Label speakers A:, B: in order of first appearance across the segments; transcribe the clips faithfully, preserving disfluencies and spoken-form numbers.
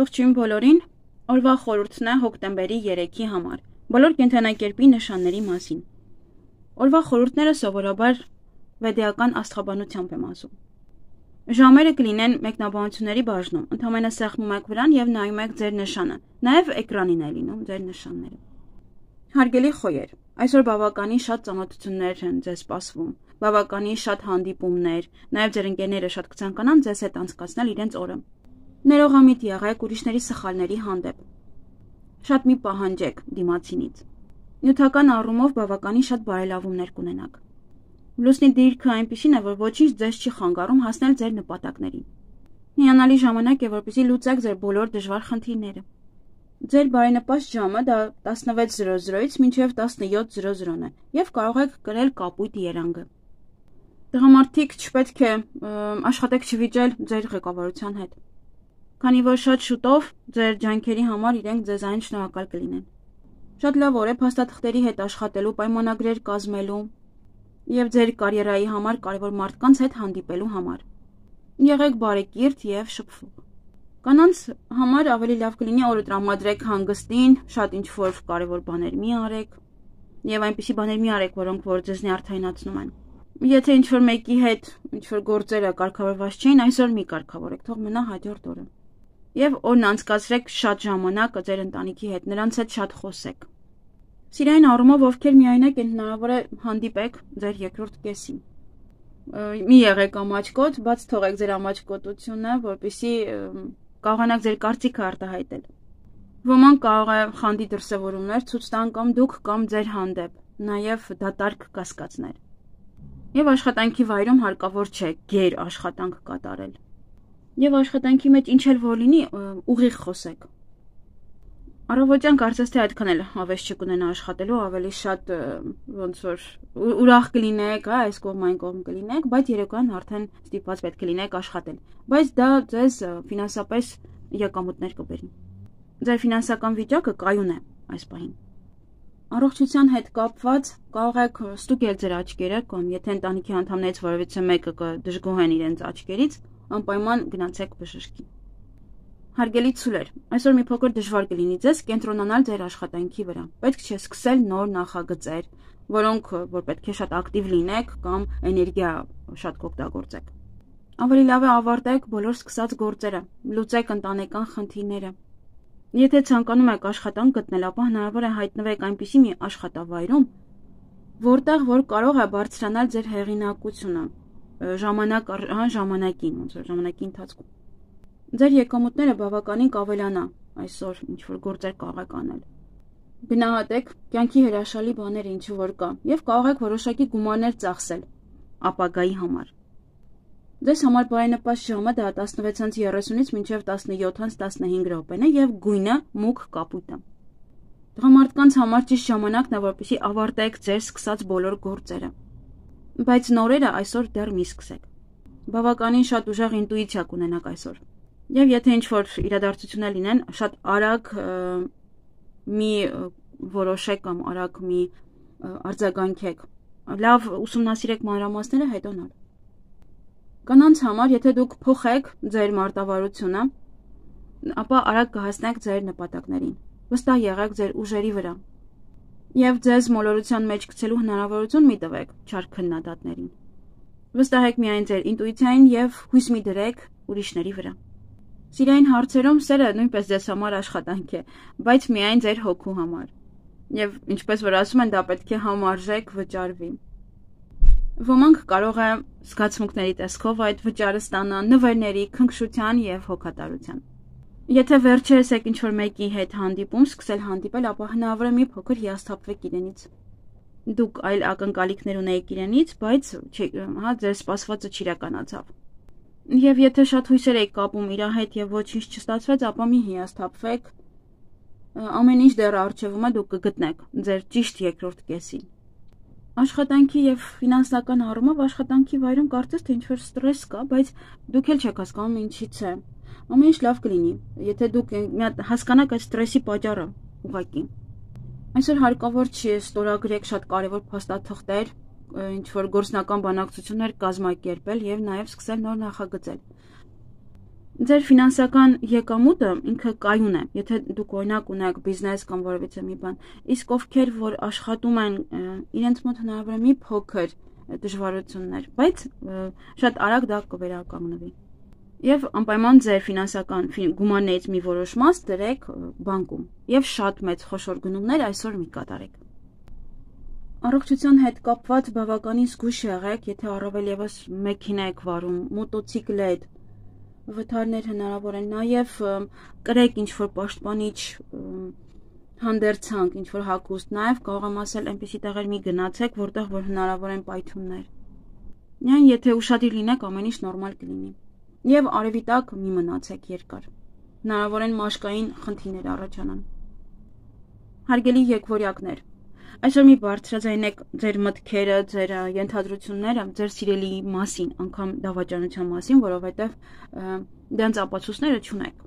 A: Ողջույն բոլորին, օրվա խորհուրդն է հոկտեմբերի երեքի համար, բոլոր կենդանակերպի նշանների մասին։ Օրվա խորհուրդները սովորաբար վեդեական աստղաբանությամբ եմ ասում։ Ժամերը կլինեն մեկնաբանությունների բաժնում, ընդամենը սեղմում եք վրան և նայում եք ձեր նշանը, նաև էկրանին է լինում ձեր նշանները։ Հարգելի խոյեր, այսօր բավականին շատ ծանոթություններ են ձեզ սպասվում, բավականին շատ հանդիպումներ, նաև ձեր ընկերները շատ կցանկանան ձեզ հետ անցկացնել իրենց օրը։ Ներողամիտ եղեք ուրիշների սխալների հանդեպ։ Շատ մի պահանջեք դիմացինից։ Նյութական առումով բավականին շատ բարելավումներ կունենաք։ Լուսնի դիրքը այնպիսին է, որ ոչինչ ձեզ չի խանգարում հասնել ձեր նպատակներին։ Հիանալի ժամանակ է, որպեսզի լուծեք ձեր բոլոր դժվար խնդիրները։ Ձեր բարենպաստ ժամը դա տասնվեց զրո զրոից մինչև տասնյոթ զրո զրոն է, և կարող եք կրել կապույտ երանգը։ Տղամարդիկ չպետք է աշխատեք չվիճել ձեր ղեկավարության հետ, քանի որ շատ շուտով ձեր ջանքերի համար իրենք ձեզանից շնորհակալ կլինեն։ Շատ լավ օր է փաստաթղթերի հետ աշխատելու, պայմանագրեր կազմելու և ձեր կարիերայի համար կարևոր մարդկանց հետ հանդիպելու համար։ Եղեք բարեկիրթ և շփվող։ Կանանց համար ավելի լավ կլինի օրը տրամադրեք հանգստին, շատ ինչ-որ կարևոր բաներ մի արեք և այնպիսի բաներ մի արեք, որոնք որ ձեզնի արդայնացնում են։ Եթե ինչ-որ մեկի հետ ինչ-որ գործերը կարգավորված չէին, այսօր մի կարգավորեք, թող մնա հաջորդ օրը։ Եվ օրն անցկացրեք շատ ժամանակ ձեր ընտանիքի հետ, նրանց հետ շատ խոսեք։ Սիրային առումով ովքեր միայնակ են, հնարավոր է հանդիպեք ձեր երկրորդ կեսին։ Մի եղեք ամաչկոտ, բաց թողեք ձեր ամաչկոտությունը, որպեսզի կարողանաք ձեր կարծիքը արտահայտել։ Ոմանք կարող է խանդի դրսևորումներ ցույց տան կամ դուք կամ ձեր հանդեպ, նաև դատարկ կասկածներ։ Եվ աշխատանքի վայրում հարկավոր չէ գեր աշխատանք կատարել։ Եվ աշխատանքի մեջ ինչ էլ որ լինի, ուղիղ խոսեք։ Առավոտյան կարծես թե այդքան էլ հավես չկունենա աշխատելու, ավելի շատ ոնց որ ուրախ կլինեք, այս կողմ այն կողմ կլինեք, բայց երեկոյան արդեն ստիպված պետք է լինեք աշխատել։ Բայց դա ձեզ ֆինանսապես եկամուտներ կբերի։ Ձեր ֆինանսական վիճակը կայուն է այս պահին։ Առողջության հետ կապված կարող եք ստուգել ձեր աչքերը կամ եթե ընտանիքի անդամներից որևիցե մեկը կդժգոհեն իրենց աչքերից, անպայման գնացեք բժշկի։ Հարգելի ցուլեր, այսօր մի փոքր դժվար կլինի ձեզ կենտրոնանալ ձեր աշխատանքի վրա։ Պետք չէ սկսել նոր նախագծեր, որոնք որ պետք է շատ ակտիվ լինեք կամ էներգիա շատ կօգտագործեք։ Ավելի լավ է ավարտեք բոլոր սկսած գործերը, լուծեք ընտանեկան խնդիրները։ Եթե ցանկանում եք աշխատանք գտնել, ապա հնարավոր է հայտնվեք այնպիսի մի աշխատավայրում, որտեղ որ կարող է բարձրանալ ձեր հեղինակությունը ժամանակ առ ժամանակին, ոնց որ ժամանակի ընթացքում։ Ձեր եկամուտները բավականին կավելանա այսօր ինչ որ գործեր կարող եք անել։ Գնահատեք կյանքի հրաշալի բաները ինչ որ կա եւ կարող եք որոշակի գումարներ ծախսել ապագայի համար։ Ձեզ համար բարենպաստ ժամը դա տասնվեցից երեսունից մինչև տասնյոթից տասնհինգ րոպեն է եւ գույնը մուգ կապույտ է։ Տղամարդկանց համար ճիշտ ժամանակն է, որպեսզի ավարտեք ձեր սկսած բոլոր գործերը։ Բայց նորերը այսօր դեռ մի սկսեք։ Բավականին շատ ուժեղ ինտուիցիա կունենաք այսօր։ Եվ եթե ինչ-որ իրադարձություններ լինեն, շատ արագ մի որոշեք կամ արագ մի արձագանքեք։ Լավ ուսումնասիրեք մանրամասները, հետո նոր։ Կանանց համար, եթե դուք փոխեք ձեր մարտավարությունը, ապա արագ կհասնեք ձեր նպատակներին։ Վստահ եղեք ձեր ուժերի վրա։ Եվ ձեզ մոլորության մեջ գցելու հնարավորություն մի տվեք չար քննադատներին։ Վստահեք միայն ձեր ինտուիցիային և հույս մի դրեք ուրիշների վրա։ Սիրային հարցերում սերը նույնպես ձեզ համար աշխատանք է, բայց միայն ձեր հոգու համար։ Եվ ինչպես որ ասում են, դա պետք է համարժեք վճարվի։ Ոմանք կարող է զգացմունքների տեսքով այդ վճարը ստանան նվերների, քնքշության և հոգատարության։ Եթե վերջերս եք ինչ-որ մեկի հետ հանդիպում, սկսել հանդիպել, ապա հնարավոր է մի փոքր հիասթափվեք իրենից։ Դուք այլ ակնկալիքներ ունեիք իրենից, բայց հա ձեր սպասվածը չիրականացավ։ Եվ եթե շատ հույսեր եք կապում իր հետ և ոչինչ չստացվեց, ապա մի հիասթափվեք, ամեն ինչ դեռ առջևում է, դուք կգտնեք ձեր ճիշտ երկրորդ կեսին։ Աշխատանքի և ֆինանսական առումով աշխատանքի վայրում կարծես թե ինչ-որ ստրես կա, բայց դուք էլ չեք հասկանում ինչից է։ Ամեն ինչ լավ կլինի, եթե դուք հասկանաք այդ ստրեսի պատճառը ուղղակի։ Այսօր հարկավոր չի ստորագրեք շատ կարևոր փաստաթղթեր, ինչ-որ գործնական բանակցություններ կազմակերպել և նաև սկսել նոր նախագծել։ Ձեր ֆինանսական եկամուտը ինքը կայուն է, եթե դուք օրինակ ունեք բիզնես կամ որևիցե մի բան, իսկ ովքեր որ աշխատում են, իրենց մոտ հնարավոր է մի փոքր դժվարություններ, բայց շատ արագ դա կվերականգնվի։ Եվ անպայման ձեր ֆինանսական գումարներից մի որոշ մաս դրեք բանկում եւ շատ մեծ խոշոր գնումներ այսօր մի կատարեք։ Առողջության հետ կապված բավականին զգույշ եղեք, եթե առավել եւս մեքենա եք վարում, մոտոցիկլետ, վթարներ հնարավոր են, նաև կրեք ինչ-որ պաշտպանիչ հանդերձանք, ինչ-որ հագուստ, նաև կարող եմ ասել այնպիսի տեղեր մի գնացեք, որտեղ որ հնարավոր են պայթյուններ։ Միայն եթե ուշադիր լինեք, ամեն ինչ նորմալ կլինի։ Եվ արևի տակ մի մնացեք երկար։ Հնարավոր են մաշկային խնդիրներ առաջանան։ Հարգելի եկվորյակներ, այսօր մի բարձրաձայնեք ձեր մտքերը, ձեր ենթադրությունները ձեր սիրելի մասին, անգամ դավաճանության մասին, որովհետև դրանց ապացույցները չունեք։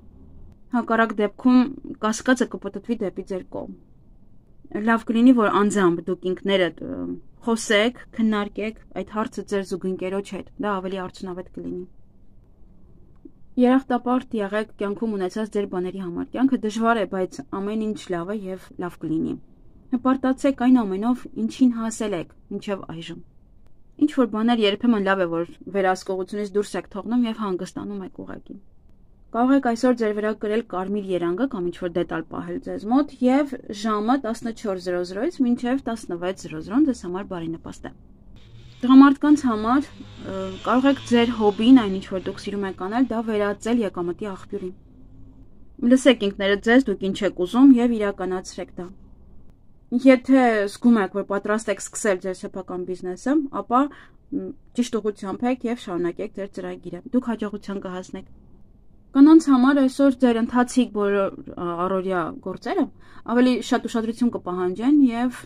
A: Հակառակ դեպքում կասկածը կպտտվի դեպի ձեր կողմ։ Լավ կլինի, որ անձամբ դուք ինքներդ խոսեք, քննարկեք այդ հարցը ձեր զուգընկերոջ հետ, դա ավելի արդյունավետ կլինի։ Երախտապարտ եղեք կյանքում ունեցած ձեր բաների համար։ Կյանքը դժվար է, բայց ամեն ինչ լավ է եւ լավ կլինի։ Հպարտացեք այն ամենով, ինչին հասել եք մինչև այժմ։ Ինչ որ բաներ երբեմն լավ է, որ վերահսկողությունից դուրս եք թողնում եւ հանգստանում եք ուղղակի։ Կարող եք այսօր ձեր վրա կրել կարմիր երանգը կամ ինչ որ դետալ պահել ձեզ մոտ եւ ժամը տասնչորս զրո զրոից մինչեւ տասնվեց զրո զրոն ձեզ համար բարենպաստ է։ Տղամարդկանց համար կարող եք ձեր հոբին, այն ինչ որ դուք սիրում եք անել, դա վերածել եկամտի աղբյուրի։ Լսեք ինքներդ ձեզ, դուք ինչ եք ուզում եւ իրականացրեք դա։ Եթե զգում եք, որ պատրաստ եք սկսել ձեր սեփական բիզնեսը, ապա ճիշտ ուղղությամբ եք եւ շարունակեք ձեր ծրագիրը։ Դուք հաջողության կհասնեք։ Կանանց համար այսօր ձեր ընթացիկ բոլոր առօրյա գործերը ավելի շատ ուշադրություն կպահանջեն եւ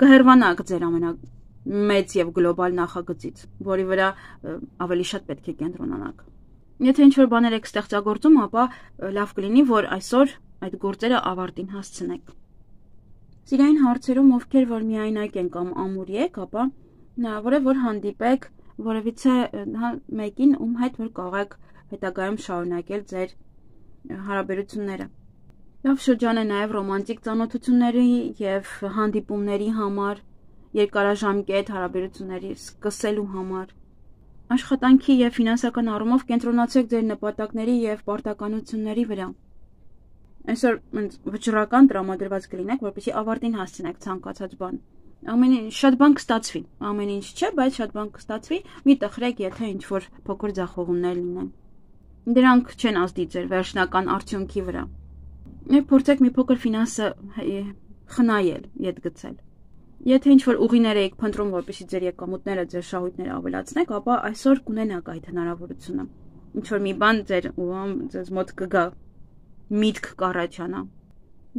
A: կհեռվանաք ձեր ամենամեծ եւ գլոբալ նախագծից, որի վրա ավելի շատ պետք է կենտրոնանաք։ Եթե ինչ-որ բաներ եք ստեղծագործում, ապա լավ կլինի, որ այսօր այդ գործերը ավարտին հասցնեք։ Սիրային հարցերում, ովքեր որ միայնակ են կամ ամուրի եք, ապա հնարավոր է, որ հանդիպեք որևիցե մեկին, ում հետ որ կարող եք հետագայում շարունակել ձեր հարաբերությունները։ Լավ շրջան է նաև ռոմանտիկ ծանոթությունների եւ հանդիպումների համար, երկարաժամկետ հարաբերությունների սկսելու համար։ Աշխատանքի եւ ֆինանսական առումով կենտրոնացեք ձեր նպատակների եւ պարտականությունների վրա։ Այսօր վճռական տրամադրված կլինեք, որպեսզի ավարտին հասցնեք ցանկացած բան։ Ամեն ինչ շատ բան կստացվի, ամեն ինչ չէ, բայց շատ բան կստացվի, մի տխրեք, եթե ինչ որ փոքր ձախողումներ լինեն։ Դրանք չեն ազդի ձեր վերջնական արդյունքի վրա։ Եվ փորձեք մի փոքր ֆինանսը խնայել, ետ գցել։ Եթե ինչ որ ուղիներ եք փնտրում, որպեսզի ձեր եկամուտները, ձեր շահույթները ավելացնեք, ապա այսօր կունենաք այդ հնարավորությունը։ Ինչ որ մի բան ձեր ձեզ մոտ կգա, միտք կառաջանա։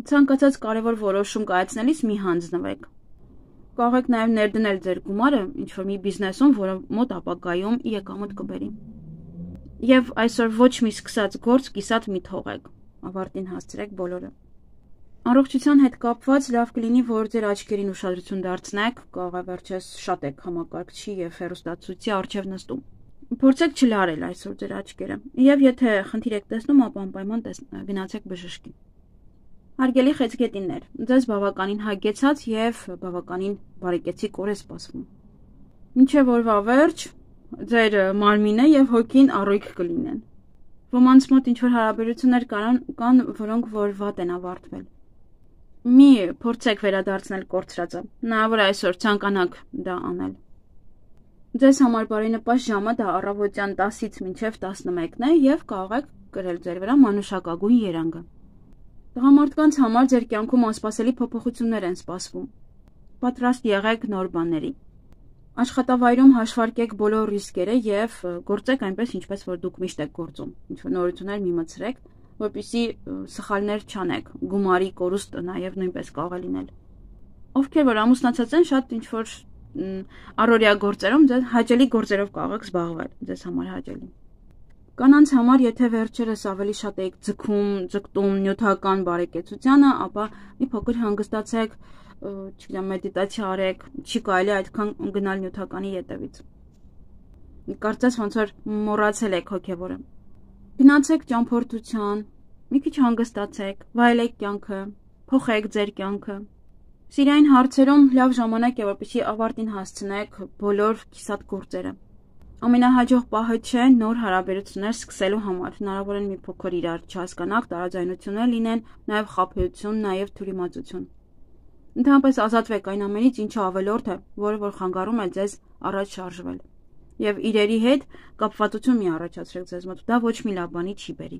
A: Ցանկացած կարևոր որոշում կայացնելիս մի հանձնվեք։ Կարող եք նաև ներդնել ձեր գումարը ինչ որ մի բիզնեսում, որը մոտ ապագայում եկամուտ կբերի։ Եվ այսօր ոչ մի սկսած գործ կիսատ մի թողեք, ավարտին հասցրեք բոլորը։ Առողջության հետ կապված լավ կլինի, որ ձեր աչքերին ուշադրություն դարձնեք, կարող է վերջերս շատ եք համակարգչի եւ հեռուստացույցի առջև նստում։ Փորձեք չլարել այսօր ձեր աչքերը, եւ եթե խնդիր եք տեսնում, ապա անպայման գնացեք բժշկի։ Հարգելի խեցգետիններ, ձեզ բավականին հագեցած եւ բավականին բարեկեցիկ օր է սպասվում։ Մինչեւ օրվա վերջ ձեր մարմինը եւ հոգին առույգ կլինեն։ Ոմանց մոտ ինչ որ հարաբերություններ կան, որոնք որ վատ են ավարտվել։ Մի փորձեք վերադարձնել կորցրածը։ Հնարավոր է այսօր ցանկանաք դա անել։ Ձեզ համար բարենպաստ ժամը դա առավոտյան տասից մինչև տասնմեկն է եւ կարող եք կրել ձեր վրա մանուշակագույն երանգը։ Տղամարդկանց համար ձեր կյանքում անսպասելի փոփոխություններ են սպասվում։ Պատրաստ եղեք նոր բաների։ Աշխատավայրում հաշվարկեք բոլոր ռիսկերը եւ գործեք այնպես, ինչպես որ դուք միշտ եք գործում։ Ինչ որ նորություններ մի մտցրեք, որպեսզի սխալներ չանեք, գումարի կորուստ նաեւ նույնպես կարող է լինել։ Ովքեր որ ամուսնացած են, շատ ինչ որ առօրյա գործերում ձեզ հաճելի գործերով կարող եք զբաղվել, ձեզ համար հաճելի։ Կանանց համար, եթե վերջերս ավելի շատ եք ձգում, ձգտում նյութական բարեկեցությանը, ապա մի փոքր հանգստացեք, չգիտեմ, մեդիտացիա արեք, չի կարելի այդքան գնալ նյութականի ետևից։ Կարծես ոնց որ մոռացել եք հոգևորը։ Գնացեք ճամփորդության, մի քիչ հանգստացեք, վայելեք կյանքը, փոխեք ձեր կյանքը։ Սիրային հարցերում լավ ժամանակ է, որպեսզի ավարտին հասցնեք բոլոր կիսատ գործերը։ Ամենահաջող պահը չէ նոր հարաբերություններ սկսելու համար, հնարավոր է մի փոքր իրար չհասկանաք, տարաձայնություններ լինեն, նաև խաբեություն, նաև թյուրիմացություն։ Ընդհանրապես ազատվեք այն ամենից, ինչը ավելորդ է, որը որ խանգարում է ձեզ առաջ շարժվել։ Եվ իրերի հետ կապվածություն մի առաջացրեք ձեզ մոտ, դա ոչ մի լավ բանի չի բերի։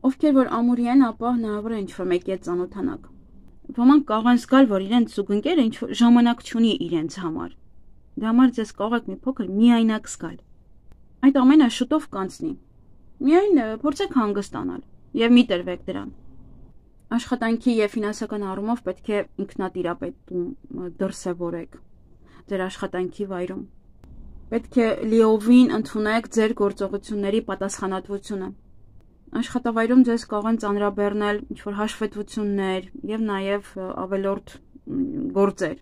A: Ովքեր որ ամուրի են, ապա հնարավոր է ինչ-որ մեկի հետ ծանոթանաք։ Ոմանք կարող են զգալ, որ իրենց զուգընկերը ինչ-որ ժամանակ չունի իրենց համար։ Դրա համար ձեզ կարող եք մի փոքր միայնակ զգալ։ Այդ ամենը շուտով կանցնի։ Միայն փորձեք հանգստանալ եւ մի տրվեք դրան։ Աշխատանքի եւ ֆինանսական առումով պետք է ինքնատիրապետում դրսևորեք ձեր աշխատանքի վայրում։ Պետք է լիովին ընդունեք ձեր գործողությունների պատասխանատվությունը։ Աշխատավայրում ձեզ կարող են ծանրաբեռնել ինչ-որ հաշվետվություններ եւ նաեւ ավելորդ գործեր։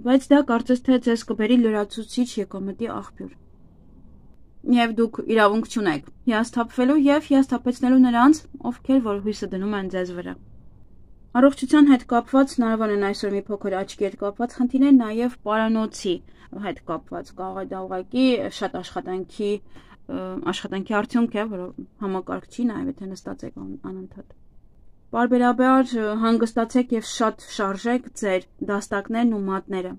A: Բայց դա կարծես թե ձեզ կբերի լրացուցիչ եկամտի աղբյուր։ Եվ դուք իրավունք չունեք հիասթափվելու եւ հիասթափեցնելու նրանց, ովքեր որ հույսը դնում են ձեզ վրա։ Առողջության հետ կապված հնարավոր են այսօր մի փոքր աչքի հետ կապված խնդիրներ, նաեւ պարանոցի հետ կապված կարող է դա ուղղակի շատ աշխատանքի աշխատանքի արդյունք է, որ համակարգչի նաև եթե նստած եք անընդհատ։ Պարբերաբար հանգստացեք եւ շատ շարժեք ձեր դաստակներն ու մատները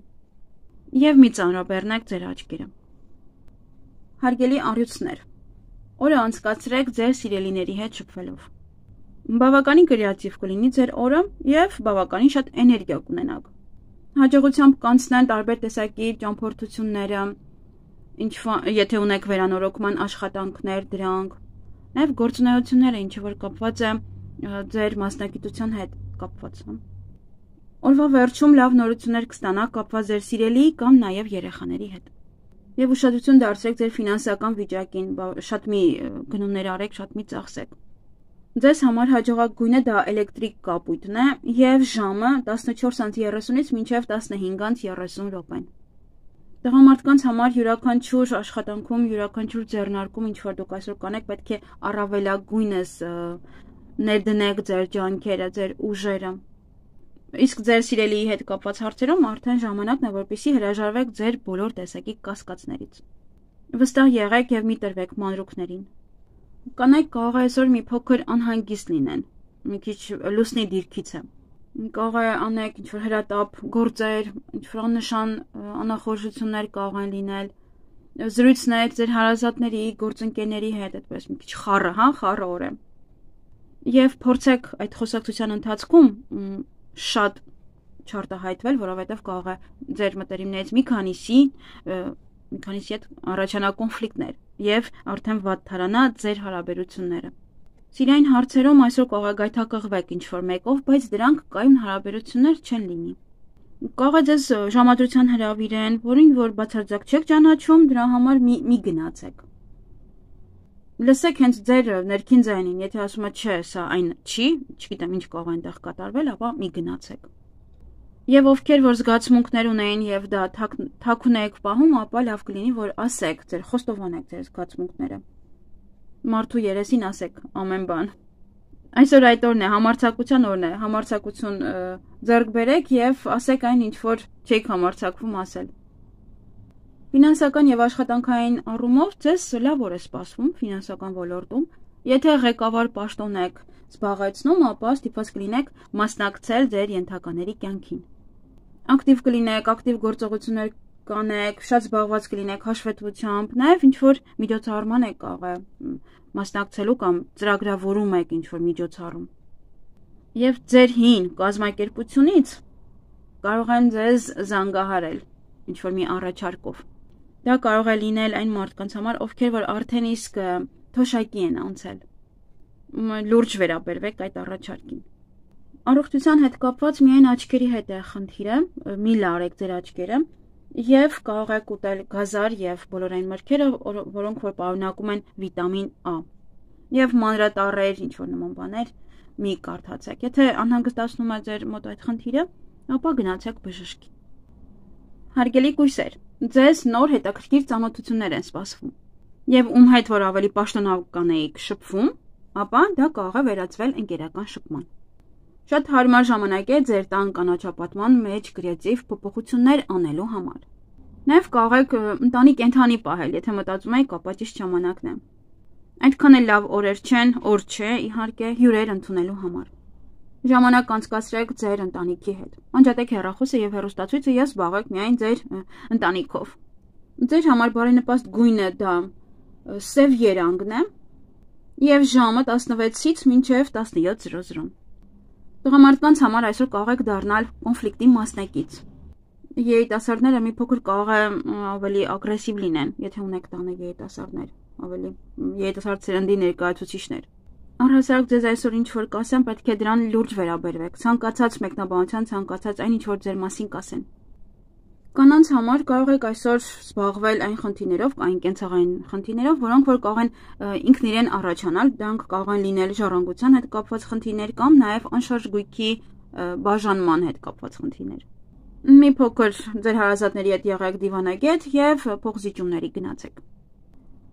A: եւ մի ծանրաբեռնեք ձեր աչքերը։ Հարգելի առյուծներ, օրը անցկացրեք ձեր սիրելիների հետ շփվելով։ Բավականին կրեատիվ կլինի ձեր օրը եւ բավականին շատ էներգիա կունենաք։ Հաջողությամբ կանցնեն տարբեր տեսակի ճամփորդությունները, ինչ եթե ունեք վերանորոգման աշխատանքներ դրանք, նաև գործունեությունները, ինչը որ կապված է ձեր մասնագիտության հետ կապված։ Օրվա վերջում լավ նորություններ կստանաք կապված ձեր սիրելի կամ նաև երեխաների հետ։ Եվ ուշադրություն դարձրեք ձեր ֆինանսական վիճակին, շատ մի գնումներ արեք, շատ մի ծախսեք։ Ձեզ համար հաջողակ գույնը դա էլեկտրիկ կապույտն է եւ ժամը տասնչորս երեսունից մինչեւ տասնհինգ երեսուն րոպեն։ Տղամարդկանց համար յուրաքանչյուր աշխատանքում, յուրաքանչյուր ձեռնարկում, ինչ որ դուք այսօր կանեք, պետք է առավելագույնս ներդնեք ձեր ջանքերը, ձեր ուժերը։ Իսկ ձեր սիրելիի հետ կապված հարցերում արդեն ժամանակն է, որպեսզի հրաժարվեք ձեր բոլոր տեսակի կասկածներից։ Վստահ եղեք եւ մի տրվեք մանրուքներին։ Կանայք կարող է այսօր մի փոքր անհանգիստ լինեն, մի քիչ լուսնի դիրքից է։ Կարող է անեք ինչ-որ հրատապ գործեր, ինչ-որ աննշան անախորժություններ կարող են լինել, զրույցներ ձեր հարազատների, գործընկերների հետ, այդպես մի քիչ խառը, հա, խառը օր է։ Եվ փորձեք այդ խոսակցության ընթացքում շատ չարտահայտվել, որովհետև կարող է ձեր մտերիմներից մի քանիսի, մի քանիսի հետ առաջանա կոնֆլիկտներ եւ արդեն վատթարանա ձեր հարաբերությունները։ Սիրային հարցերում այսօր կարող է գայթակղվեք ինչ-որ մեկով, բայց դրանք կայուն հարաբերություններ չեն լինի։ Կարող է ձեզ ժամադրության հրավիրեն, որին որ բացարձակ չեք ճանաչում, դրա համար մի, մի գնացեք։ Լսեք հենց ձեր ներքին ձայնին, եթե ասում է չէ, սա այն չի, չգիտեմ ինչ կարող է այնտեղ կատարվել, ապա մի գնացեք։ Եվ ովքեր որ զգացմունքներ ունեն եւ դա թաքուն եք պահում, ապա լավ կլինի որ ասեք, ձեր խոստովանեք ձեր զգացմունքները։ Մարդու երեսին ասեք ամեն բան։ Այսօր այդ օրն է, համարձակության օրն է, համարձակություն ձեռք բերեք եւ ասեք այն ինչ որ չեք համարձակվում ասել։ Ֆինանսական եւ աշխատանքային առումով ձեզ լավ օր է սպասվում ֆինանսական ոլորտում։ Եթե ղեկավար պաշտոն եք զբաղեցնում, ապա ստիպված կլինեք մասնակցել ձեր ենթակաների կյանքին։ Ակտիվ կլինեք, ակտիվ գործողություններ կանեք, շատ զբաղված կլինեք հաշվետվությամբ, նաեւ ինչ որ միջոցառման եք կարող է մասնակցելու կամ ծրագրավորում եք ինչ որ միջոցառում։ Եվ ձեր հին կազմակերպությունից կարող են ձեզ զանգահարել ինչ որ մի առաջարկով։ Դա կարող է լինել այն մարդկանց համար, ովքեր որ արդեն իսկ թոշակի են անցել։ Լուրջ վերաբերվեք այդ առաջարկին։ Առողջության հետ կապված միայն աչքերի հետ է խնդիրը, մի լարեք ձեր աչքերը եւ կարող եք ուտել գազար եւ բոլոր այն մրգերը, որոնք որ պարունակում են վիտամին A։ Եվ մանրատառեր, ինչ որ նման բաներ մի կարդացեք։ Եթե անհանգստացնում է ձեր մոտ այդ խնդիրը, ապա գնացեք բժշկի։ Հարգելի կույսեր, ձեզ նոր հետաքրքիր ծանոթություններ են սպասվում։ եւ ում հետ որ ավելի պաշտոնական էիք շփվում, ապա դա կարող է վերածվել ընկերական շփման։ Շատ հարմար ժամանակ է ձեր տան կանաչապատման մեջ կրեատիվ փոփոխություններ անելու համար։ Նաև կարող եք ընտանի կենդանի պահել, եթե մտածում եք ապա ճիշտ ժամանակն է։ Այդքան էլ լավ օրեր չեն, օր չէ, իհարկե, հյուրեր ընդունելու համար։ Ժամանակ անցկացրեք ձեր ընտանիքի հետ։ Անջատեք հեռախոսը եւ հեռուստացույցը եւ զբաղվեք միայն ձեր ընտանիքով։ Ձեր համար բարենպաստ գույնը դա սև երանգն է եւ ժամը տասնվեցից մինչեւ տասնյոթ զրո զրո։ Տղամարդկանց համար այսօր կարող եք դառնալ կոնֆլիկտի մասնակից։ Երիտասարդները մի փոքր կարող է ավելի ագրեսիվ լինեն, եթե ունեք տանը երիտասարդներ, ավելի երիտասարդ սերնդի ներկայացուցիչներ։ Առհասարակ ձեզ այսօր ինչ որ կասեն, պետք է դրան լուրջ վերաբերվեք։ Ցանկացած մեկնաբանության, ցանկացած այն ինչ որ ձեր մասին կասեն։ Կանանց համար կարող եք այսօր զբաղվել այն խնդիրներով, այն կենցաղային խնդիրներով, որոնք որ կարող են ինքն իրեն առաջանալ, դրանք կարող են լինել ժառանգության հետ կապված խնդիրներ կամ նաև անշարժ գույքի բաժանման հետ կապված խնդիրներ։ Մի փոքր ձեր հարազատների հետ եղեք դիվանագետ եւ փոխզիջումների գնացեք։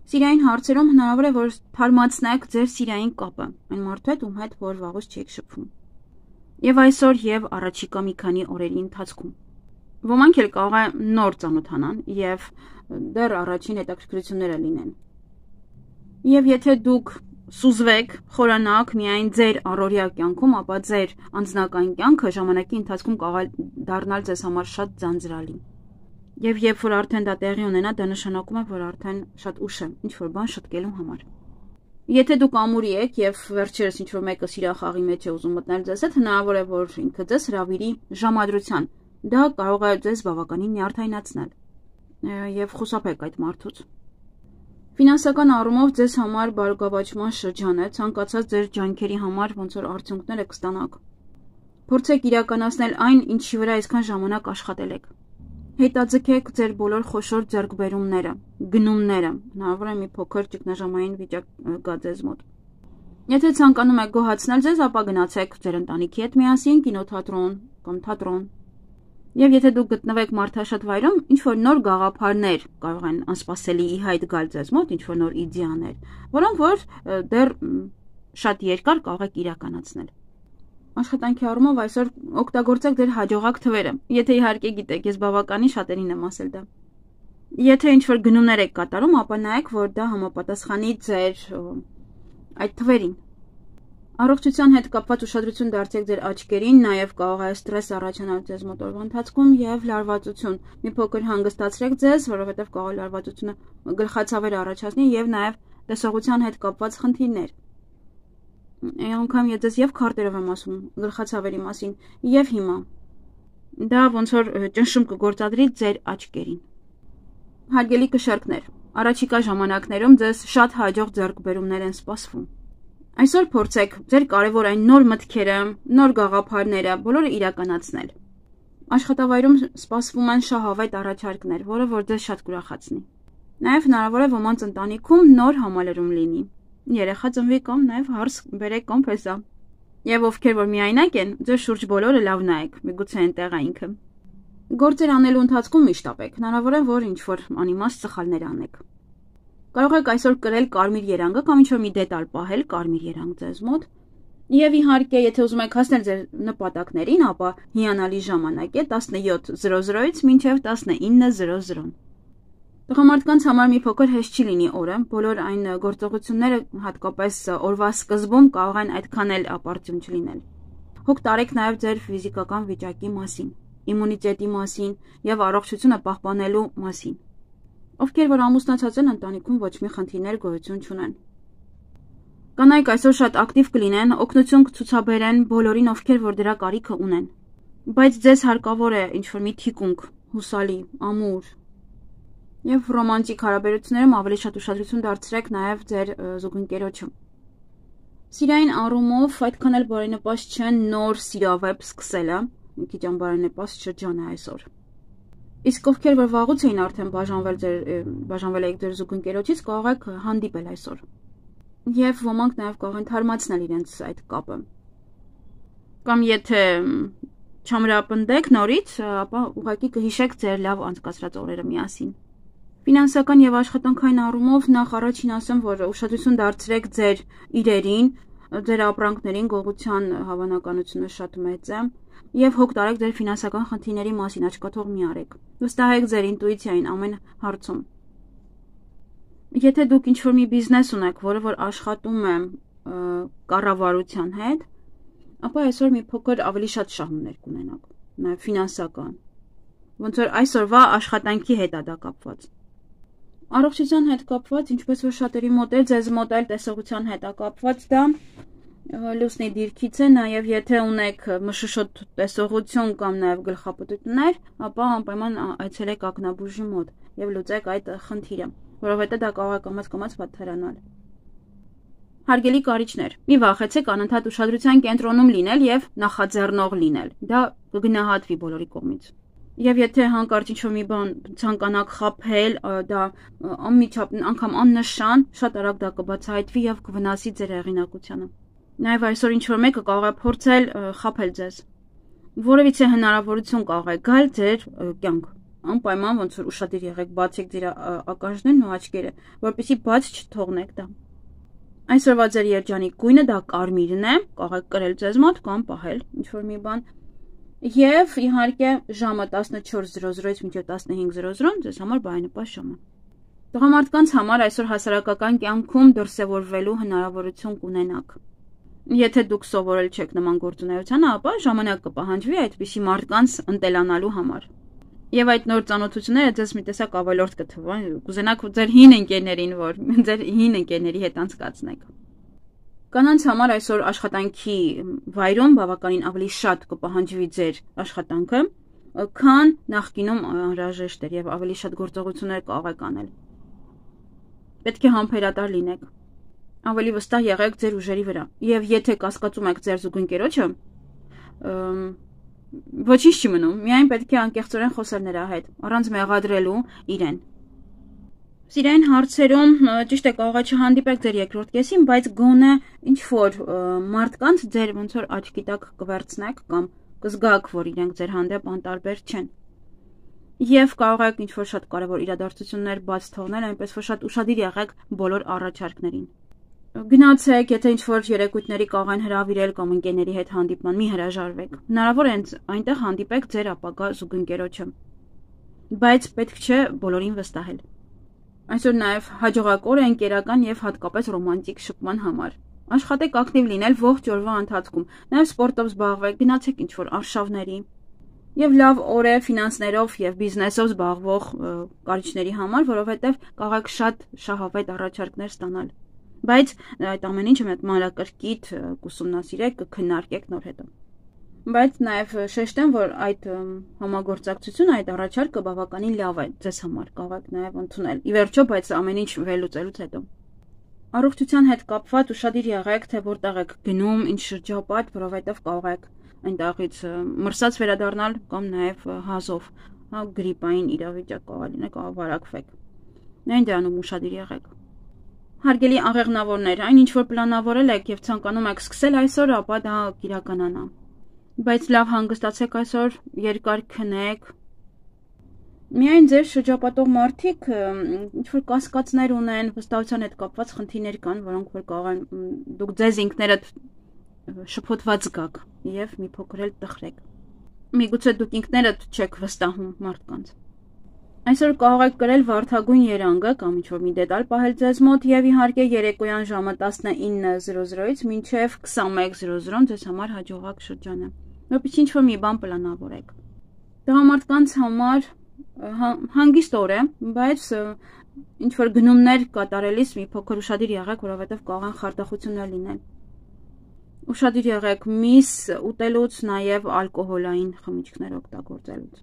A: Սիրային հարցերում հնարավոր է որ թարմացնեք ձեր սիրային կապը այն մարդու հետ, ում հետ որ վաղուց չեք շփվում։ Եվ այսօր եւ առաջիկա մի քանի օրերի ընթացքում ոմանք էլ կարող է նոր ծանոթանան եւ դեռ առաջին հետաքրքրությունները լինեն։ Եվ եթե դուք սուզվեք, խորանաք միայն ձեր առօրյա կյանքում, ապա ձեր անձնական կյանքը ժամանակի ընթացքում կարող է դառնալ ձեզ համար շատ ձանձրալի։ Եվ երբ որ արդեն դա տեղի ունենա, դա նշանակում է, որ արդեն շատ ուշ է ինչ որ բան շտկելու համար։ Եթե դուք ամուրի եք եւ վերջերս ինչ որ մեկը սիրախաղի մեջ է ուզում մտնել ձեզ հետ, հնարավոր է որ ինքը ձեզ հրավիրի ժամադրության։ Դա կարող է ձեզ բավականին նյարդայնացնել եւ խուսափեք այդ մարդուց։ Ֆինանսական առումով ձեզ համար բարգավաճման շրջան է, ցանկացած ձեր ջանքերի համար ոնց որ արդյունքները կստանաք։ Փորձեք իրականացնել այն, ինչի վրա այսքան ժամանակ աշխատել եք։ Հետաձգեք ձեր բոլոր խոշոր ձեռքբերումները, գնումները, հնարավոր է մի փոքր ճգնաժամային վիճակ գա ձեզ մոտ։ Եթե ցանկանում եք գոհացնել ձեզ, ապա գնացեք ձեր ընտանիքի հետ միասին կինոթատրոն կամ թատրոն։ Եվ եթե դուք գտնվեք մարդաշատ վայրում, ինչ որ նոր գաղափարներ կարող են անսպասելի ի հայտ գալ ձեզ մոտ, ինչ որ նոր իդեաներ, որոնք որ դեռ շատ երկար կարող եք իրականացնել։ Աշխատանքի առումով այսօր օգտագործեք ձեր հաջողակ թվերը, եթե իհարկե գիտեք, ես բավականին շատերին եմ ասել դա։ Եթե ինչ որ գնումներ եք կատարում, ապա նայեք, որ դա համապատասխանի ձեր այդ թվերին։ Առողջության հետ կապված ուշադրություն դարձեք ձեր աչքերին, նաև կարող է ստրես առաջանալ ձեզ մոտ օրվա ընթացքում եւ լարվածություն։ Մի փոքր հանգստացրեք ձեզ, որովհետեւ կարող է լարվածությունը գլխացավեր առաջացնի եւ նաև տեսողության հետ կապված խնդիրներ։ Անգամ ես ձեզ եւ քարտերով եմ ասում գլխացավերի մասին եւ հիմա դա ոնց որ ճնշում կգործադրի ձեր աչքերին։ Հարգելի կշարքներ, առաջիկա ժամանակներում ձեզ շատ հաջող ձեռքբերումներ են սպասվում։ Այսօր փորձեք ձեր կարևոր այն նոր մտքերը, նոր գաղափարները բոլորը իրականացնել։ Աշխատավայրում սպասվում են շահավետ առաջարկներ, որը որ ձեզ շատ կուրախացնի։ Նաև հնարավոր է ոմանց ընտանիքում նոր համալրում լինի։ Երեխա ծնվի կամ նաև հարս բերեք կամ փեսա։ Եվ ովքեր որ միայնակ են, ձեր շուրջ բոլորը լավ նայեք, միգուցե այնտեղ է ինքը։ Գործեր անելու ընթացքում միշտ ապեք, հնարավոր է որ ինչ որ անիմաստ սխալներ անեք։ Կարող եք այսօր կրել կարմիր երանգը կամ ինչ-որ մի դետալ պահել կարմիր երանգ ձեզ մոտ։ Եվ իհարկե, եթե ուզում եք հասնել ձեր նպատակներին, ապա հիանալի ժամանակ է տասնյոթ զրո զրոից մինչև տասնինը զրո զրո։ Տղամարդկանց համար մի փոքր հեշտ չի լինի օրը, բոլոր այն գործողությունները հատկապես օրվա սկզբում կարող են այդքան էլ ապարդյուն չլինել։ Հոգ տարեք նաև ձեր ֆիզիկական վիճակի մասին, իմունիտետի մասին եւ առողջությունը պահպանելու մասին։ Ովքեր որ ամուսնացած են, ընտանիքում ոչ մի խնդիրներ գոյություն չունեն։ Կանայք այսօր շատ ակտիվ կլինեն, օգնություն կցուցաբերեն բոլորին, ովքեր որ դրա կարիքը ունեն։ Բայց ձեզ հարկավոր է ինչ-որ մի թիկունք, հուսալի, ամուր։ Եվ ռոմանտիկ հարաբերություններում ավելի շատ ուշադրություն դարձրեք նաև ձեր զուգընկերոջը։ Սիրային առումով այդքան էլ բարենպաստ չեն նոր սիրավեպ սկսելը, մի քիչ անբարենպաստ շրջան է այսօր։ Իսկ ովքեր որ վաղուց էին արդեն բաժանվել ձեր բաժանվել եք ձեր զուգընկերոջից, կարող եք հանդիպել այսօր։ Եվ ոմանք նաև կարող են թարմացնել իրենց այդ կապը։ Կամ եթե չամրապնդեք նորից, ապա ուղղակի կհիշեք ձեր լավ անցկացրած օրերը միասին։ Ֆինանսական եւ աշխատանքային առումով նախ առաջին ասեմ, որ ուշադրություն դարձրեք ձեր իրերին, ձեր ապրանքներին, գողության հավանականությունը շատ մեծ է եւ հոգ տարեք ձեր ֆինանսական խնդիրների մասին, աչքաթող մի արեք։ Վստահեք ձեր ինտուիցիային ամեն հարցում։ Եթե դուք ինչ-որ մի բիզնես ունեք, որը որ աշխատում է կառավարության հետ, ապա այսօր մի փոքր ավելի շատ շահումներ կունենաք, նաեւ ֆինանսական։ Ոնց որ այսօրվա աշխատանքի հետ է դա կապված։ Առողջության հետ կապված, ինչպես որ շատերի մոտ է, ձեզ մոտ էլ տեսողության հետ է կապված դա լուսնի դիրքից է, նաև եթե ունեք մշուշոտ տեսողություն կամ նաև գլխապտույտներ, ապա անպայման այցելեք ակնաբուժի մոտ եւ լուծեք այդ խնդիրը, որովհետեւ դա կարող է կամաց-կամաց վատթարանալ։ Հարգելի կարիճներ, մի վախեցեք անընդհատ ուշադրության կենտրոնում լինել եւ նախաձեռնող լինել։ Դա կգնահատվի բոլորի կողմից։ Եվ եթե հանկարծ ինչ-որ մի բան ցանկանաք խաբել, դա անմիջապ անգամ աննշան, շատ արագ դա կբացահայտվի եւ կվնասի ձեր հեղինակությանը։ Նաեւ այսօր ինչ-որ մեկը կարող է փորձել խաբել ձեզ։ Որևիցե հնարավորություն կարող է գալ ձեր կյանք։ Անպայման ոնց որ ուշադիր եղեք, բացեք ձեր ականջներն ու աչքերը, որպեսզի բաց չթողնեք դա։ Այսօրվա ձեր երջանիկ գույնը դա կարմիրն է, կարող եք կրել ձեզ մոտ կամ պահել ինչ-որ մի բան։ Եվ իհարկե ժամը տասնչորս զրո զրոից մինչև տասնհինգ զրո զրո ձեզ համար բարենպաստ ժամ է։ Տղամարդկանց համար այսօր հասարակական կյանքում դրսևորվելու հնարավորություն կունենաք։ Եթե դուք սովորել չեք նման գործունեությանը, ապա ժամանակ կպահանջվի այդպիսի մարդկանց ընտելանալու համար։ Եվ այդ նոր ծանոթությունները ձեզ մի տեսակ ավելորդ կթվան, կուզենաք ձեր հին ընկերներին, որ ձեր հին ընկերների հետ անցկացնեք։ Կանանց համար այսօր աշխատանքի վայրում բավականին ավելի շատ կպահանջվի ձեր աշխատանքը, քան նախկինում անհրաժեշտ էր եւ ավելի շատ գործողություններ կարող եք անել։ Պետք է համբերատար լինեք։ Ավելի վստահ եղեք ձեր ուժերի վրա։ Եվ եթե կասկածում եք ձեր զուգընկերոջը, ոչինչ չի մնում, միայն պետք է անկեղծորեն խոսել նրա հետ, առանց մեղադրելու իրեն։ Սիրային հարցերում ճիշտ է կարող է չհանդիպեք ձեր երկրորդ կեսին, բայց գոնե ինչ որ մարդկանց ձեր ոնց որ աչքի տակ կվերցնեք կամ կզգաք, որ իրենք ձեր հանդեպ անտարբեր չեն։ Եվ կարող եք ինչ որ շատ կարևոր իրադարձություններ բաց թողնել, այնպես որ շատ ուշադիր եղեք բոլոր առաջարկներին։ Գնացեք, եթե ինչ որ երեկույթների կարող են հրավիրել կամ ընկերների հետ հանդիպման, մի հրաժարվեք։ Հնարավոր է այնտեղ հանդիպեք ձեր ապագա զուգընկերոջը։ Բայց պետք չէ բոլորին վստահել։ Այսօր նաև հաջողակ օր է ընկերական եւ հատկապես ռոմանտիկ շփման համար։ Աշխատեք ակտիվ լինել ողջ օրվա ընթացքում, նաև սպորտով զբաղվեք, գնացեք ինչ որ արշավների։ Եվ լավ օր է ֆինանսներով եւ բիզնեսով զբաղվող կարիճների համար, որովհետեւ կարող եք շատ շահավետ առաջարկներ ստանալ։ Բայց այդ ամեն ինչը մեկ մանրակրկիտ կուսումնասիրեք, կքննարկեք նոր հետո։ Բայց նաև շեշտեմ, որ այդ համագործակցությունը, այդ առաջարկը բավականին լավ է ձեզ համար, կարող եք նաև ընդունել։ Ի վերջո, բայց ամեն ինչ վերլուծելուց հետո։ Առողջության հետ կապված ուշադիր եղեք, թե որտեղ եք գնում, ինչ շրջապատ, որովհետև կարող եք այնտեղից մրսած վերադառնալ կամ նաև հազով, հա գրիպային իրավիճակ կարող լինի, կարող վարակվեք։ Նույն դրանում ուշադիր եղեք։ Հարգելի աղեղնավորներ, այն ինչ որ պլանավորել եք եւ ցանկանում եք սկսել այսօր, ապա դա կիրականանա։ Բայց լավ հանգստացեք այսօր, երկար քնեք։ Միայն ձեր շրջապատող մարդիկ ինչ որ կասկածներ ունեն, վստահության հետ կապված խնդիրներ կան, որոնք որ կարող են դուք ձեզ ինքներդ շփոթված գաք եւ մի փոքր էլ տխրեք։ Միգուցե դուք ինքներդ չեք վստահում մարդկանց։ Այսօր կարող եք կրել վարդագույն երանգը կամ ինչ-որ մի դետալ պահել ձեզ մոտ եւ իհարկե երեկոյան ժամը տասնինը զրո զրոից մինչեւ քսանմեկ զրո զրո ձեզ համար հաջողակ շրջան է։ Որպես ինչ-որ մի բան պլանավորեք։ Տղամարդկանց համար հանգիստ օր է, բայց ինչ-որ գնումներ կատարելիս մի փոքր ուշադիր եղեք, որովհետեւ կարող են խարդախություններ լինել։ Ուշադիր եղեք միս ուտելուց, նաեւ ալկոհոլային խմիչքներ օգտագործելուց։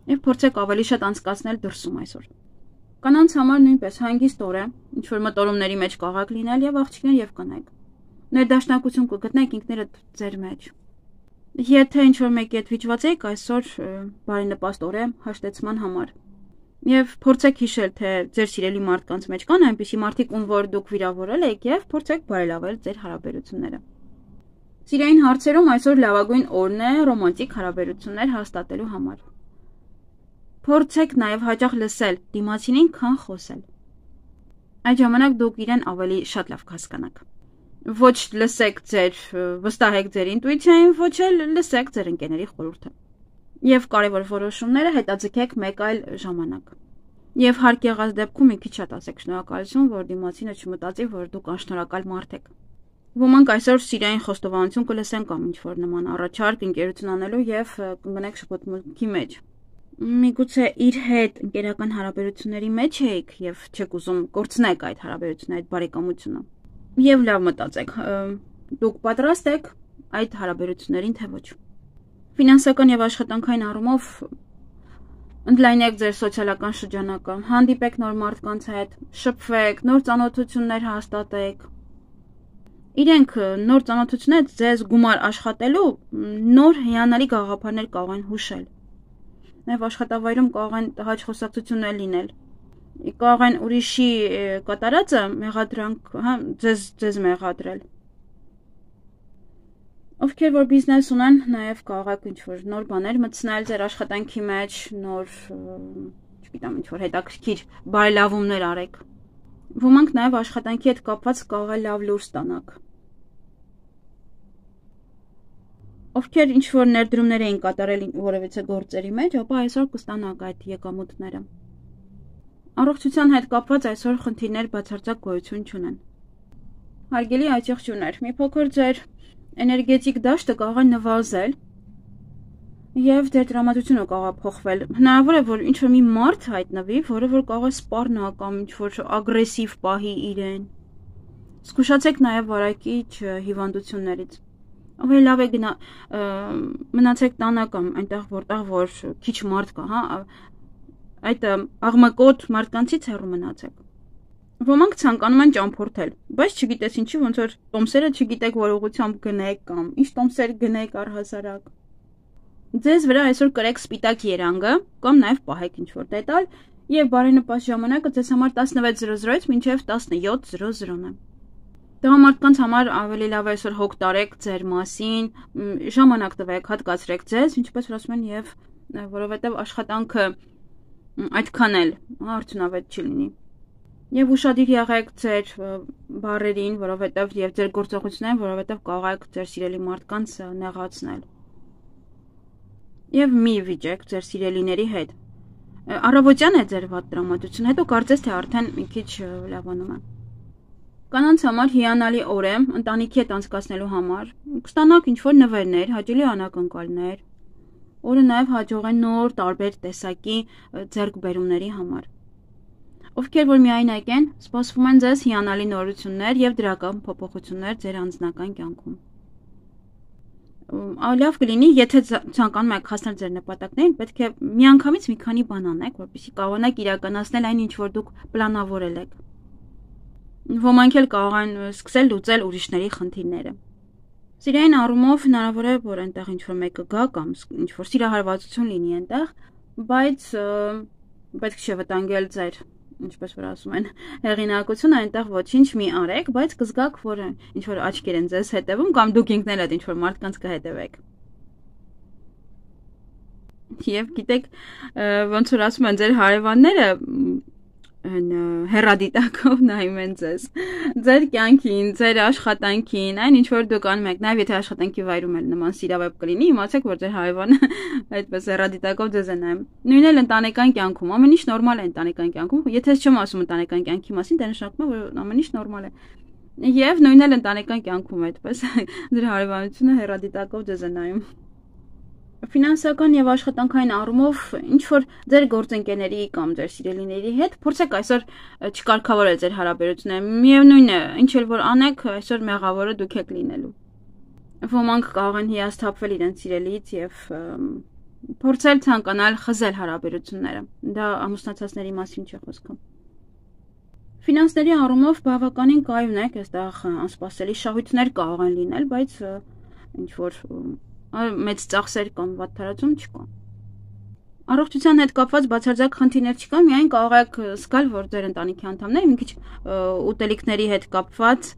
A: Եվ փորձեք ավելի շատ անցկացնել դրսում այսօր։ Կանանց համար նույնպես հանգիստ օր է, ինչ որ մտորումների մեջ կարող եք լինել եւ աղջիկներ եւ կանայք։ Ներդաշնակություն կգտնեք ինքներդ ձեր մեջ։ Եթե ինչ որ մեկի հետ վիճված եք, այսօր բարենպաստ օր է հաշտեցման համար։ Եվ փորձեք հիշել, թե ձեր սիրելի մարդկանց մեջ կան այնպիսի մարդիկ, ում որ դուք վիրավորել եք եւ փորձեք բարելավել ձեր հարաբերությունները։ Սիրային հարցերում այսօր լավագույն օրն է ռոմանտիկ հարաբերություններ հաստատելու համար։ Փորձեք նաև հաճախ լսել դիմացինին, քան խոսել։ Այդ ժամանակ դուք իրեն ավելի շատ լավ կհասկանաք։ Ոչ լսեք ձեր, վստահեք ձեր ինտուիցիային, ոչ էլ լսեք ձեր ընկերների խորհուրդը։ Եվ կարևոր որոշումները հետաձգեք մեկ այլ ժամանակ։ Եվ հարկ եղած դեպքում մի քիչ շատ ասեք շնորհակալություն, որ դիմացինը չմտածի, որ դուք անշնորհակալ մարդ եք։ Ոմանք այսօր սիրային խոստովանություն կլսեն կամ ինչ-որ նման առաջարկ ընկերություն անելու եւ կընկնեք շփոթմունքի մեջ։ Միգուցե իր հետ ընկերական հարաբերությունների մեջ եք եւ չեք ուզում կորցնեք այդ հարաբերությունը, այդ բարեկամությունը։ Եվ լավ մտածեք, դուք պատրաստ եք այդ հարաբերություններին թե ոչ։ Ֆինանսական եւ աշխատանքային առումով ընդլայնեք ձեր սոցիալական շրջանակը, հանդիպեք նոր մարդկանց հետ, շփվեք, նոր ծանոթություններ հաստատեք։ Իրենք նոր ծանոթություններ ձեզ գումար աշխատելու նոր հիանալի գաղափարներ կարող են հուշել։ Նաև աշխատավայրում կարող են տհաճ խոսակցություններ լինել։ Կարող են ուրիշի կատարածը մեղադրանք, հա, ձեզ ձեզ մեղադրել։ Ովքեր որ բիզնես ունեն, նաև կարող եք ինչ-որ նոր բաներ մտցնել ձեր աշխատանքի մեջ, նոր, չգիտեմ, ինչ-որ հետաքրքիր բարելավումներ արեք։ Ոմանք նաև աշխատանքի հետ կապված կարող է լավ լուր ստանաք։ Ովքեր ինչ-որ ներդրումներ էին կատարել որևիցե գործերի մեջ, ապա այսօր կստանաք այդ եկամուտները։ Առողջության հետ կապված այսօր խնդիրներ բացարձակ գոյություն չունեն։ Հարգելի աջակցություններ, մի փոքր ձեր էներգետիկ դաշտը կարող է նվազել եւ ձեր տրամադրությունը կարող է փոխվել։ Հնարավոր է, որ ինչ-որ մի մարդ հայտնվի, որը որ կարող է սպառնա կամ ինչ-որ ագրեսիվ պահի իրեն։ Զգուշացեք նաեւ վարակիչ հիվանդություններից։ Ավելի լավ է գնա մնացեք տանը կամ այնտեղ որտեղ որ քիչ մարդ կա, հա, այդ աղմկոտ մարդկանցից հեռու մնացեք։ Ոմանք ցանկանում են ճամփորդել, բայց չգիտես ինչի, ոնց որ տոմսերը չգիտեք որ ուղղությամբ գնեք կամ ինչ տոմսեր գնեք առհասարակ։ Ձեզ վրա այսօր կրեք սպիտակ երանգը կամ նաև պահեք ինչ-որ դետալ եւ բարենպաստ ժամանակը ձեզ համար տասնվեց զրո զրոից մինչեւ տասնյոթ զրո զրոն է։ Տղամարդկանց համար ավելի լավ է այսօր հոգ տարեք ձեր մասին, ժամանակ տվեք, հատկացրեք ձեզ, ինչպես որ ասում են, եւ որովհետեւ աշխատանքը այդքան էլ արդյունավետ չի լինի։ Եվ ուշադիր եղեք ձեր բառերին, որովհետեւ եւ ձեր գործողություններին, որովհետեւ կարող եք ձեր սիրելի մարդկանց նեղացնել։ Եվ մի վիճեք ձեր սիրելիների հետ։ Առավոտյան է ձեր վատ տրամադրությունը, հետո կարծես թե արդեն մի քիչ լավանում է։ Կանանց համար հիանալի օր է ընտանիքի հետ անցկացնելու համար։ Կստանաք ինչ-որ նվերներ, հաճելի անակնկալներ։ Օրը նաև հաջող է նոր տարբեր տեսակի ձեռքբերումների համար։ Ովքեր որ միայնակ են, սպասվում են ձեզ հիանալի նորություններ եւ դրական փոփոխություններ ձեր անձնական կյանքում։ Լավ կլինի, եթե ցանկանում եք հասնել ձեր նպատակներին, պետք է միանգամից մի քանի բան անեք, որպեսզի կարողանաք իրականացնել այն, ինչ որ դուք պլանավորել եք։ Ոմանք էլ կարող են սկսել լուծել ուրիշների խնդիրները։ Սիրային առումով հնարավոր է, որ այնտեղ ինչ-որ մեկը գա կամ ինչ-որ սիրահարվածություն լինի այնտեղ, բայց պետք չէ վտանգել ձեր, ինչպես որ ասում են, հեղինակությունը, այնտեղ ոչինչ մի արեք, բայց կզգաք, որ ինչ-որ աչքեր են ձեզ հետևում կամ դուք ինքներդ ինչ-որ մարդկանց կհետևեք։ Եվ գիտեք, ոնց որ ասում են, ձեր հարևանները հեռադիտակով նայում են ձեզ, ձեր կյանքին, ձեր աշխատանքին, այն ինչ որ դուք անում եք, նաև եթե աշխատանքի վայրում էլ նման սիրավեպ կլինի, իմացեք, որ ձեր հարևանը այդպես հեռադիտակով ձեզ է նայում։ Նույնն էլ ընտանեկան կյանքում, ամեն ինչ նորմալ է ընտանեկան կյանքում, եթե չեմ ասում ընտանեկան կյանքի մասին, դա նշանակում է, որ ամեն ինչ նորմալ է։ Եվ նույնն էլ ընտանեկան կյանքում այդպես ձեր հարևանությունը հեռադիտակով ձեզ է նայում։ Ֆինանսական եւ աշխատանքային առումով ինչ որ ձեր գործընկերների կամ ձեր սիրելիների հետ փորձեք այսօր չկարգավորել ձեր հարաբերությունները։ Միևնույն է, ինչ էլ որ անեք, այսօր մեղավորը դուք եք լինելու։ Ոմանք կարող են հիասթափվել իրենց սիրելիից եւ փորձել ցանկանալ խզել հարաբերությունները։ Դա ամուսնացածների մասին չի խոսքը։ Ֆինանսների առումով բավականին կայուն եք, այստեղ անսպասելի շահույթներ կարող են լինել, բայց ինչ որ մեծ ծախսեր կամ վատ թարացում չկա։ Առողջության հետ կապված բացարձակ խնդիրներ չկա, միայն կարող եք զգալ, որ ձեր ընտանիքի անդամները մի քիչ ուտելիքների հետ կապված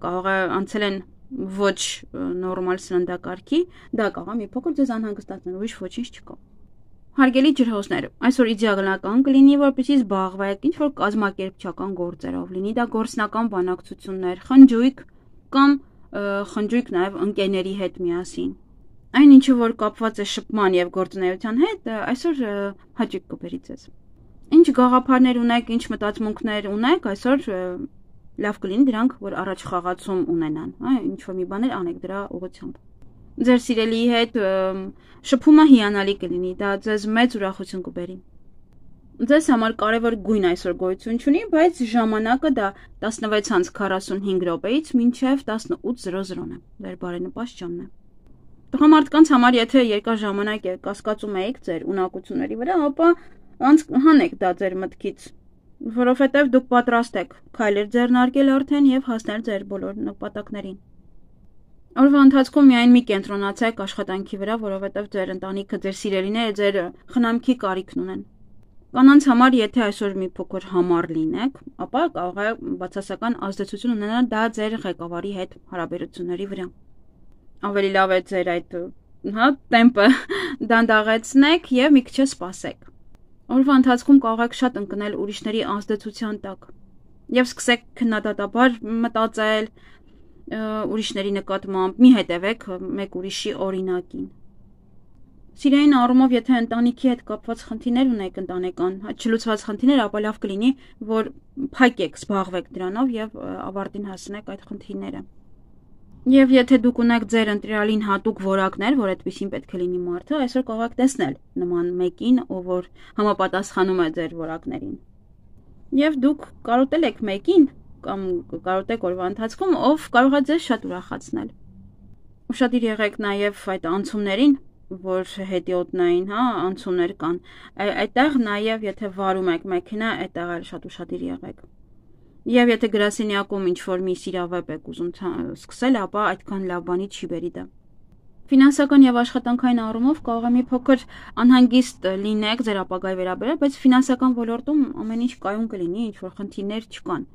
A: կարող է անցել են ոչ նորմալ սննդակարգի, դա կարող է մի փոքր ձեզ անհանգստացնել, ուրիշ ոչինչ չկա։ Հարգելի ջրհոսներ, այսօր իդեալական կլինի, որպեսզի զբաղվեք ինչ-որ կազմակերպչական գործերով, լինի դա գործնական բանակցություններ, խնջույք կամ խնջույք նաև ընկերների հետ միասին։ Այն ինչը որ կապված է շփման եւ գործունեության հետ, այսօր հաճույք կբերի ձեզ։ Ինչ գաղափարներ ունեք, ինչ մտածմունքներ ունեք, այսօր լավ կլինի դրանք, որ առաջ խաղացում ունենան, հա, ինչ որ մի բաներ անեք դրա ուղղությամբ։ Ձեր սիրելիի հետ շփումը հիանալի կլինի, դա ձեզ մեծ ուրախություն կբերի։ Ձեզ համար կարևոր գույն այսօր գոյություն չունի, բայց ժամանակը դա տասնվեց քառասունհինգ րոպեից մինչև տասնութ զրո զրոն է, ձեր բարենպաստ ժամն է։ Տղամարդկանց համար եթե երկար ժամանակ է կասկածում եք ձեր ունակությունների վրա, ապա հանեք դա ձեր մտքից, որովհետև դուք պատրաստ եք քայլեր ձեռնարկել արդեն եւ հասնել ձեր բոլոր նպատակներին։ Օրվա ընթացքում միայն մի կենտրոնացեք աշխատանքի վրա, որովհետև ձեր ընտանիքը, ձեր սիրելիները ձեր խնամքի կարիքն ունեն։ Կանանց համար, եթե այսօր մի փոքր համառ լինեք, ապա կարող է բացասական ազդեցություն ունենալ դա ձեր ղեկավարի հետ հարաբերությունների վրա։ Ավելի լավ է ձեր այդ, հա, տեմպը դանդաղեցնեք եւ մի քիչ սպասեք։ Օրվա ընթացքում կարող եք շատ ընկնել ուրիշների ազդեցության տակ եւ սկսեք քննադատաբար մտածել ուրիշների նկատմամբ, մի հետևեք մեկ ուրիշի օրինակին։ Սիրային առումով, եթե ընտանիքի հետ կապված խնդիրներ ունեք ընտանեկան, չլուծված խնդիրներ, ապա լավ կլինի, որ փակեք, զբաղվեք դրանով եւ ավարտին հասնեք այդ խնդիրները։ Եվ եթե դուք ունեք ձեր ընտրյալին հատուկ որակներ, որ այդպեսին պետք է լինի մարդը, այսօր կարող եք տեսնել նման մեկին, ով որ համապատասխանում է ձեր որակներին։ Եվ դուք կարոտել եք մեկին կամ կարոտեք օրվա ընթացքում, ով կարող է ձեզ շատ ուրախացնել։ Ուշադիր եղեք նաև այդ անցումներին, որ հետիոտնային, հա, անցումներ կան։ Այդտեղ նաև եթե վարում եք մեքենա, այդտեղ էլ շատ ուշադիր եղեք։ Եվ եթե գրասենյակում ինչ-որ մի սիրավեպ եք ուզում սկսել, ապա այդքան լավ բանի չի բերի դա։ Ֆինանսական եւ աշխատանքային առումով կարող է մի փոքր անհանգիստ լինեք ձեր ապագայի վերաբերյալ, բայց ֆինանսական ոլորտում ամեն ինչ կայուն կլինի, ինչ-որ խնդիրներ չկան։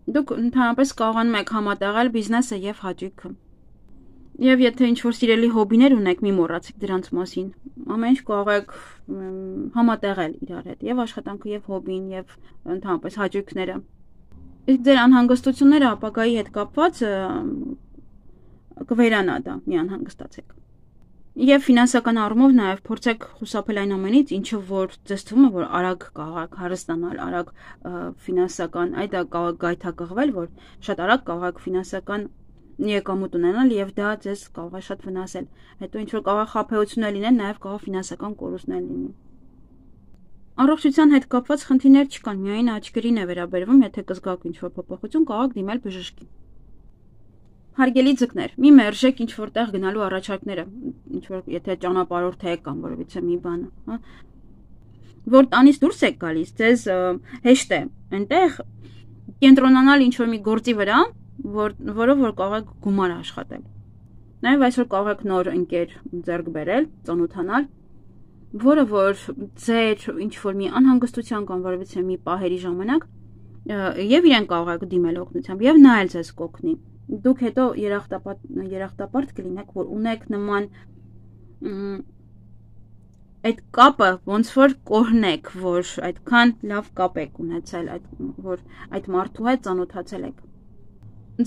A: Դուք ընդհանրապես կարողանում եք համատեղել բիզնեսը եւ հաճույքը։ Եվ եթե ինչ-որ սիրելի հոբիներ ունեք, մի մոռացեք դրանց մասին։ Ամեն ինչ կարող եք համատեղել իրար հետ, եւ աշխատանքը, եւ հոբին, եւ ընդհանրապես հաճույքները։ Իսկ ձեր անհանգստությունները ապագայի հետ կապված կվերանա դա, մի անհանգստացեք։ Եվ ֆինանսական առումով նաև փորձեք խուսափել այն ամենից, ինչը որ ձեզ թվում է, որ արագ կարող եք հարստանալ, արագ ֆինանսական, այդ կարող է գայթակղվել, որ շատ արագ կարող եք ֆինանսական եկամուտ ունենալ եւ դա ձեզ կարող է շատ վնասել։ Հետո ինչ որ կարող է խաբեություններ լինեն, նաև կարող ֆինանսական կորուստներ լինի։ Առողջության հետ կապված խնդիրներ չկան, միայն աչքերին է վերաբերվում, եթե կզգաք ինչ-որ փոփոխություն, կարող եք դիմել բժշկի։ Հարգելի ձկներ, մի մերժեք ինչ որտեղ գնալու առաջարկները, ինչ որ եթե ճանապարհորդ եք կամ որևիցե մի բան, հա։ Որ տանից դուրս եք գալիս, ձեզ հեշտ է այնտեղ կենտրոնանալ ինչ որ մի գործի վրա, որ որով որ կարող եք գումար աշխատել։ Նաև այսօր կարող եք նոր ընկեր ձեռք բերել, ծանոթանալ, որը որ ձեր ինչ որ մի անհանգստության կամ որևիցե մի պահերի ժամանակ եւ իրեն կարող եք դիմել օգնությամբ եւ նա էլ ձեզ կօգնի։ Դուք հետո երախտապարտ երախտապարտ կլինեք, որ ունեք նման այդ կապը ոնց որ կորնեք, որ այդքան լավ կապ եք ունեցել, այդ որ այդ մարդու հետ ծանոթացել եք։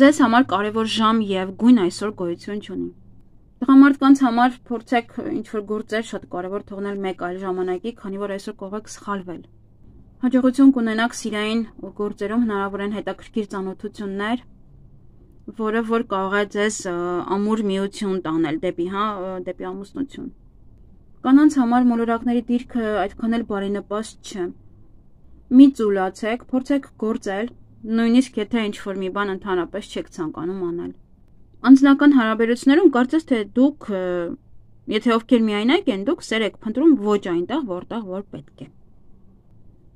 A: Ձեզ համար կարևոր ժամ եւ գույն այսօր գոյություն չունի։ Տղամարդկանց համար փորձեք ինչ-որ գործեր շատ կարևոր թողնել մեկ այլ ժամանակի, քանի որ այսօր կարող եք սխալվել։ Հաջողություն կունենաք սիրային գործերում, հնարավոր են հետաքրքիր ծանոթություններ, որը որ կարող է ձեզ ամուր միություն տանել դեպի, հա, դեպի ամուսնություն։ Կանանց համար մոլորակների դիրքը այդքան էլ բարենպաստ չէ։ Մի ծուլացեք, փորձեք գործել, նույնիսկ եթե ինչ-որ մի բան ընդհանրապես չեք ցանկանում անել։ Անձնական հարաբերություններում կարծես թե դուք, եթե ովքեր միայնակ են, դուք սեր եք փնտրում ոչ այնտեղ, որտեղ որ պետք է։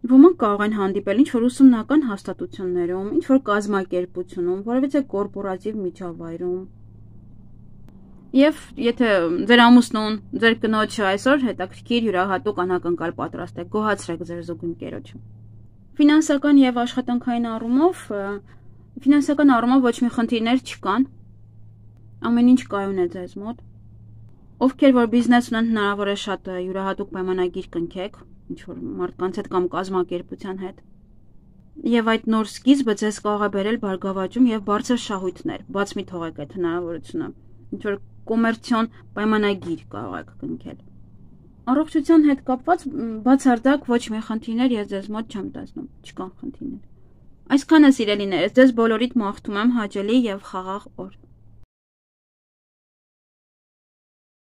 A: Ոմանք կարող են հանդիպել ինչ-որ ուսումնական հաստատություններում, ինչ-որ կազմակերպությունում, որևիցե կորպորատիվ միջավայրում։ Եվ եթե ձեր ամուսնուն, ձեր կնոջը այսօր հետաքրքիր յուրահատուկ անակնկալ պատրաստ եք, գոհացրեք ձեր զուգընկերոջը։ Ֆինանսական եւ աշխատանքային առումով, ֆինանսական առումով ոչ մի խնդիրներ չկան։ Ամեն ինչ կայուն է ձեզ մոտ։ Ովքեր որ բիզնես ունեն, հնարավոր է շատ յուրահատուկ պայմանագիր կնքեք, ինչ որ մարդկանց հետ կամ կազմակերպության հետ։ Եվ այդ նոր սկիզբը ձեզ կարող է բերել բարգավաճում եւ բարձր շահույթներ, բաց մի թողեք այդ հնարավորությունը, ինչ որ կոմերցիոն պայմանագիր կարող եք կնքել։ Առողջության հետ կապված բացարձակ ոչ մի խնդիրներ ես ձեզ մոտ չեմ տեսնում, չկան խնդիրներ։ Այսքանը սիրելիներս, ձեզ բոլորիդ մաղթում եմ հաճելի եւ խաղաղ օր։